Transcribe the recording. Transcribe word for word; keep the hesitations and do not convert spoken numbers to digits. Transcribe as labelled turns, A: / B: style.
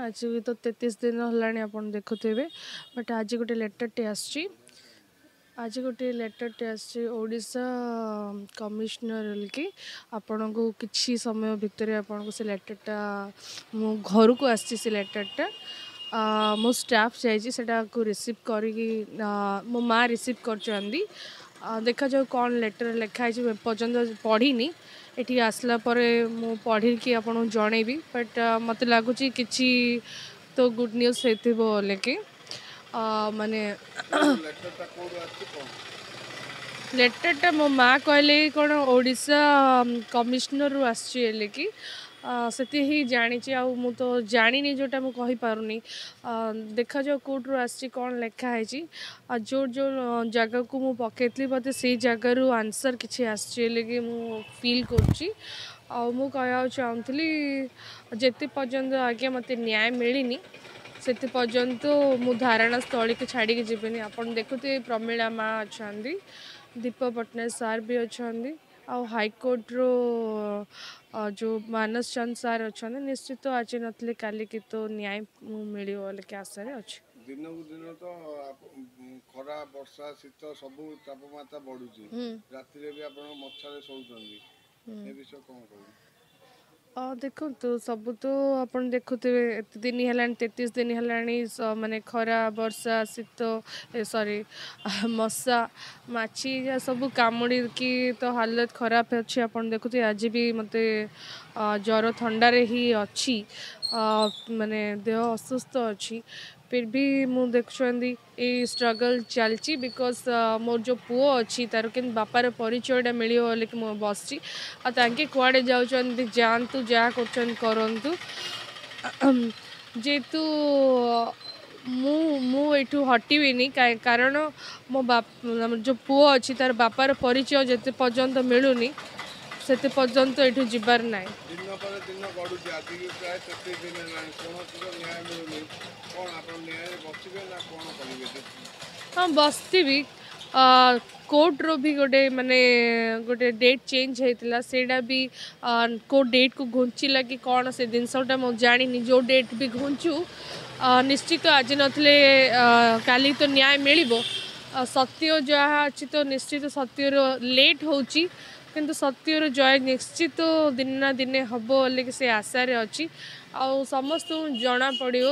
A: ଆଜି ତ ତେତିଶ ଦିନ ହେଲାଣି ଆପଣ ଦେଖୁଥିବେ, ବଟ୍ ଆଜି ଗୋଟେ ଲେଟର୍ଟେ ଆସିଛି। ଆଜି ଗୋଟେ ଲେଟର୍ଟେ ଆସିଛି ଓଡ଼ିଶା କମିଶନର କି ଆପଣଙ୍କୁ କିଛି ସମୟ ଭିତରେ ଆପଣଙ୍କୁ ସେ ଲେଟର୍ଟା ମୁଁ ଘରକୁ ଆସିଛି। ସେ ଲେଟର୍ଟା ମୋ ଷ୍ଟାଫ୍ ଯାଇଛି ସେଟାକୁ ରିସିଭ୍ କରିକି, ମୋ ମା ରିସିଭ୍ କରିଛନ୍ତି। ଦେଖାଯାଉ କ'ଣ ଲେଟର୍ ଲେଖା ହେଇଛି, ଏପର୍ଯ୍ୟନ୍ତ ପଢ଼ିନି। ଏଠି ଆସିଲା ପରେ ମୁଁ ପଢ଼ିକି ଆପଣଙ୍କୁ ଜଣେଇବି, ବଟ୍ ମୋତେ ଲାଗୁଛି କିଛି ତ ଗୁଡ଼୍ ନ୍ୟୁଜ୍ ହେଇଥିବ ବୋଲିକି। ମାନେ ଲେଟର୍ଟା ମୋ ମା କହିଲେ କ'ଣ ଓଡ଼ିଶା କମିଶନରରୁ ଆସିଛି ବୋଲିକି, ସେତିକି ହିଁ ଜାଣିଛି, ଆଉ ମୁଁ ତ ଜାଣିନି, ଯେଉଁଟା ମୁଁ କହିପାରୁନି। ଦେଖାଯାଉ କେଉଁଠୁ ଆସିଛି, କ'ଣ ଲେଖା ହେଇଛି। ଆଉ ଯେଉଁ ଯେଉଁ ଜାଗାକୁ ମୁଁ ପକାଇଥିଲି, ମୋତେ ସେଇ ଜାଗାରୁ ଆନ୍ସର୍ କିଛି ଆସିଛି ବୋଲିକି ମୁଁ ଫିଲ୍ କରୁଛି। ଆଉ ମୁଁ କହିବାକୁ ଚାହୁଁଥିଲି, ଯେତେ ପର୍ଯ୍ୟନ୍ତ ଆଜ୍ଞା ମୋତେ ନ୍ୟାୟ ମିଳିନି ସେତେ ପର୍ଯ୍ୟନ୍ତ ମୁଁ ଧାରଣା ସ୍ଥଳୀକୁ ଛାଡ଼ିକି ଯିବିନି। ଆପଣ ଦେଖୁଥିବେ ପ୍ରମିଳା ମା ଅଛନ୍ତି, ଦୀପକ ପଟ୍ଟନାୟକ ସାର୍ ବି ଅଛନ୍ତି, ଆଉ ହାଇକୋର୍ଟରୁ ଯେଉଁ ମାନସ ଚନ୍ଦ ସାର୍ ଅଛନ୍ତି। ନିଶ୍ଚିତ ଆଜି ନଥିଲେ କାଲିକି ତ ନ୍ୟାୟ ମୁଁ ମିଳିବ ବୋଲିକି ଆଶାରେ ଅଛି।
B: ଦିନକୁ ଦିନ ତ ଖରା, ବର୍ଷା, ଶୀତ ସବୁ ତାପମାତ୍ରା ବଢୁଛି, ରାତିରେ ବି ଆପଣ ମଶାରେ ଶୋଉଛନ୍ତି, ଏ ବିଷୟ କ'ଣ କହିବେ?
A: ଦେଖନ୍ତୁ, ସବୁ ତ ଆପଣ ଦେଖୁଥିବେ, ଏତେ ଦିନ ହେଲାଣି, ତେତିଶ ଦିନ ହେଲାଣି, ମାନେ ଖରା, ବର୍ଷା, ଶୀତ, ସରି, ମଶା ମାଛି ଯାହା ସବୁ କାମୁଡ଼ିକି ତ ହାଲତ ଖରାପ ଅଛି। ଆପଣ ଦେଖୁଥିବେ ଆଜି ବି ମୋତେ ଜ୍ୱର ଥଣ୍ଡାରେ ହିଁ ଅଛି, ମାନେ ଦେହ ଅସୁସ୍ଥ ଅଛି। ଫିର୍ ବି ମୁଁ ଦେଖୁଛନ୍ତି ଏଇ ଷ୍ଟ୍ରଗଲ୍ ଚାଲିଛି, because ମୋର ଯେଉଁ ପୁଅ ଅଛି ତାର କେମିତି ବାପାର ପରିଚୟଟା ମିଳିବ ବୋଲିକି ମୁଁ ବସିଛି। ଆଉ ତାଙ୍କେ କୁଆଡ଼େ ଯାଉଛନ୍ତି ଯାଆନ୍ତୁ, ଯାହା କରୁଛନ୍ତି କରନ୍ତୁ। ଯେହେତୁ ମୁଁ ମୁଁ ଏଇଠୁ ହଟିବିନି, କାରଣ ମୋ ବାପ ଯେଉଁ ପୁଅ ଅଛି ତାର ବାପାର ପରିଚୟ ଯେତେ ପର୍ଯ୍ୟନ୍ତ ମିଳୁନି ସେତେ ପର୍ଯ୍ୟନ୍ତ ଏଇଠୁ ଯିବାର ନାହିଁ।
B: ଦିନ ପରେ ଦିନ ଗଡ଼ୁଛି, ଆଜିକି ପ୍ରାୟ ତେତିଶ ଦିନ ହେଲାଣି, କୌଣସି ନ୍ୟାୟ ମିଳୁନି। କ'ଣ ଆପଣ ନ୍ୟାୟରେ ବସିବେ ନା କ'ଣ କରିବେ?
A: ହଁ, ବସିଥିବି। କୋର୍ଟର ବି ଗୋଟେ ମାନେ ଗୋଟେ ଡେଟ୍ ଚେଞ୍ଜ ହେଇଥିଲା, ସେଇଟା ବି କେଉଁ ଡେଟ୍କୁ ଘୁଞ୍ଚିଲା କି କ'ଣ ସେ ଜିନିଷଟା ମୁଁ ଜାଣିନି। ଯେଉଁ ଡେଟ୍ ବି ଘୁଞ୍ଚୁ, ନିଶ୍ଚିତ ଆଜି ନଥିଲେ କାଲି ତ ନ୍ୟାୟ ମିଳିବ। ସତ୍ୟ ଯାହା ଅଛି ତ ନିଶ୍ଚିତ ସତ୍ୟର ଲେଟ୍ ହେଉଛି, କିନ୍ତୁ ସତ୍ୟର ଜୟ ନିଶ୍ଚିତ ଦିନେ ନା ଦିନେ ହେବ ବୋଲିକି ସେ ଆଶାରେ ଅଛି, ଆଉ ସମସ୍ତଙ୍କୁ ଜଣାପଡ଼ିବ।